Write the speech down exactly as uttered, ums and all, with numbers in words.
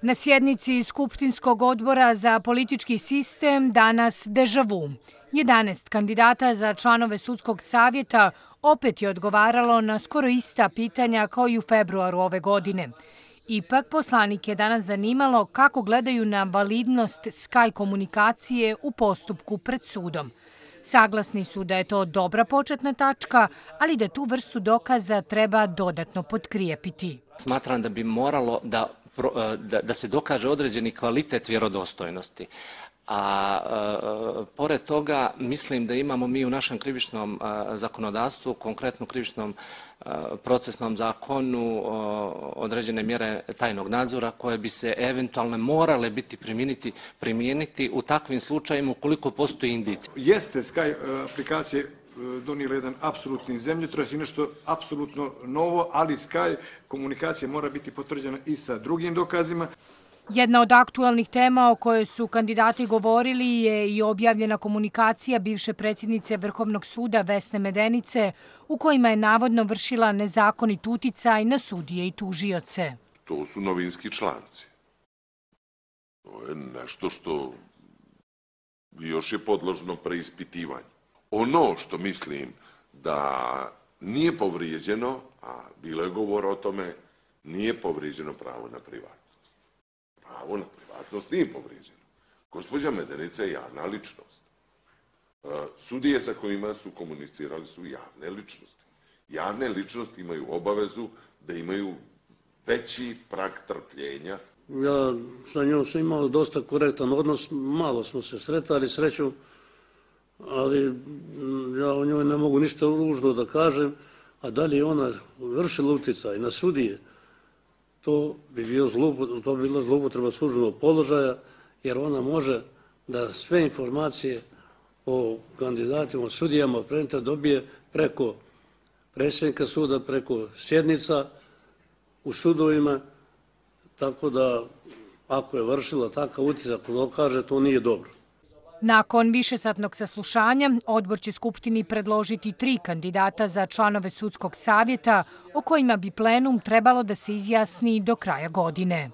Na sjednici Skupštinskog odbora za politički sistem danas deja vu. jedanaest kandidata za članove sudskog savjeta opet je odgovaralo na skoro ista pitanja kao i u februaru ove godine. Ipak, poslanike je danas zanimalo kako gledaju na validnost Sky komunikacije u postupku pred sudom. Saglasni su da je to dobra početna tačka, ali da tu vrstu dokaza treba dodatno potkrijepiti. Smatram da bi moralo da Da, da se dokaže određeni kvalitet vjerodostojnosti. A, a pored toga mislim da imamo mi u našem krivičnom a, zakonodavstvu, konkretno krivičnom a, procesnom zakonu a, određene mjere tajnog nadzora koje bi se eventualno morale biti primijeniti, primijeniti u takvim slučajima ukoliko postoji indicija. Jeste Sky aplikacije donijela jedan apsolutni zemljotres i nešto apsolutno novo, ali Sky komunikacija mora biti potvrđena i sa drugim dokazima. Jedna od aktualnih tema o kojoj su kandidati govorili je i objavljena komunikacija bivše predsjednice Vrhovnog suda Vesne Medenice, u kojima je navodno vršila nezakonit uticaj na sudije i tužioce. To su novinski članci. To je nešto što još je podložno preispitivanju. Ono što mislim da nije povrijeđeno, a bilo je govora o tome, nije povrijeđeno pravo na privatnost. Pravo na privatnost nije povrijeđeno. Gospođa Medenica je javna ličnost. Sudije sa kojima su komunicirali su javne ličnosti. Javne ličnosti imaju obavezu da imaju veći prag trpljenja. Ja sa njom sam imao dosta korektan odnos, malo smo se sretali, srećom, ali ja o njoj ne mogu ništa ružno da kažem, a da li je ona vršila utjecaj na sudije, to bi bio zloupotreba, to bi bila zloupotreba službenog položaja, jer ona može da sve informacije o kandidatima, o sudijama, predmeta dobije preko predsjednika suda, preko sjednica u sudovima, tako da ako je vršila takav utjecaj, ako dokaže, to nije dobro. Nakon višesatnog saslušanja, odbor će Skupštini predložiti tri kandidata za članove sudskog savjeta o kojima bi plenum trebalo da se izjasni do kraja godine.